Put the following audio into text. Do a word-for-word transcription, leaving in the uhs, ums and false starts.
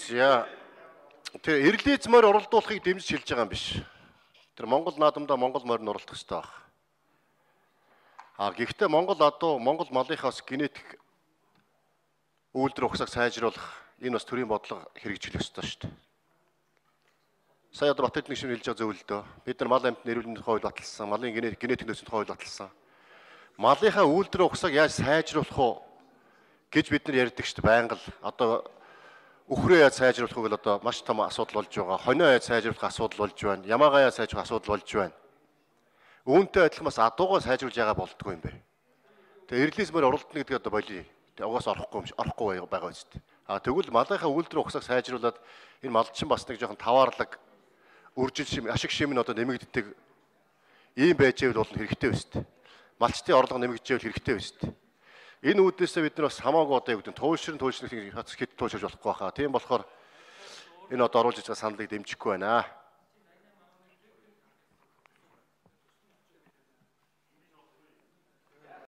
За тэр эрлиз морь уралдуулахыг дэмжиж хэлж байгаа юм биш. Тэр Монгол наадамдаа Монгол морь нь уралдах хэрэгтэй баг. А гэхдээ Монгол адуу Монгол малынхаас генетик үйлдвэр ухсаг сайжруулах энэ бас төрийн бодлого хэрэгжүүлэх ёстой шүү дээ. Сая одоо Бат эдний шинэ хэлж байгаа зөв л дөө. Бид нар мал амьтны эрүүл мэндийн хууль баталсан, малын генетик нөөцийн хууль баталсан. Малынхаа үйлдвэр ухсаг яаж сайжруулах вэ гэж бид нар ярьдаг шүү дээ. Байнга л одоо үхрээ яаж сайжруулахыг бол одоо маш том асуудал болж байгаа. Хонио яаж сайжруулах асуудал болж байна. Ямаагаа яаж сайжруулах асуудал болж байна. Үүнтэй адилхан бас адуугаа сайжруулж байгаа болдгоо юм бэ. Тэгээ эрлиз морь уралдана гэдэг одоо болий. Тэгээ угаас орохгүй юм орохгүй байгаа үст. А тэгвэл малынхаа үйлдвэр ухсаг сайжруулад энэ малчин бас нэг жоохон таваарлаг үржил шим ашиг шим нь одоо нэмэгддэг ийм байж байвал болно хэрэгтэй өст. Малчтын орлого нэмэгдэжэл хэрэгтэй өст. Энэ үүднээсээ бид нар бас хамаагүй одоо юу гэдэг нь туйлшрын туйлшрын хац хэд туйлширж болохгүй хаа. Тийм болохоор энэ одоо оруулж байгаа саналыг дэмжихгүй байна.